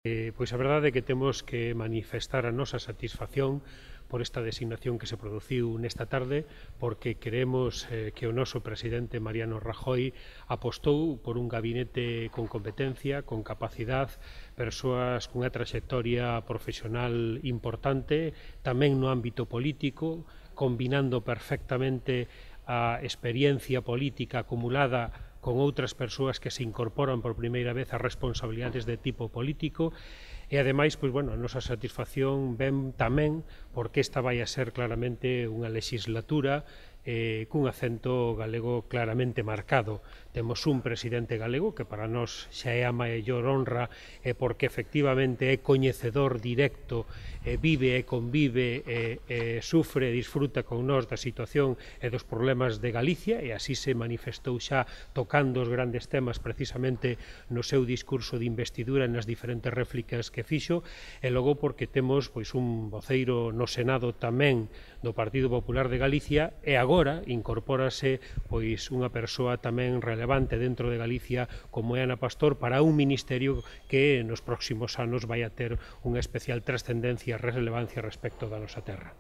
Pois a verdade é que temos que manifestar a nosa satisfacción por esta designación que se produciu nesta tarde, porque queremos que o noso presidente Mariano Rajoy apostou por un gabinete con competencia, con capacidade, persoas cunha traxectoria profesional importante, tamén no ámbito político, combinando perfectamente a experiencia política acumulada con outras persoas que se incorporan por primeira vez a responsabilidades de tipo político e, ademais, pois, bueno, a nosa satisfacción ven tamén porque esta vai a ser claramente unha legislatura cun acento galego claramente marcado. Temos un presidente galego que para nós xa é a maior honra porque efectivamente é coñecedor directo, vive e convive, sufre e disfruta con nós da situación e dos problemas de Galicia, e así se manifestou xa tocando os grandes temas precisamente no seu discurso de investidura nas diferentes réplicas que fixo, e logo porque temos pois un voceiro no Senado tamén do Partido Popular de Galicia, e agora incorpórase pois unha persoa tamén relevante dentro de Galicia como é Ana Pastor para un ministerio que nos próximos anos vai a ter unha especial trascendencia e relevancia respecto da nosa terra.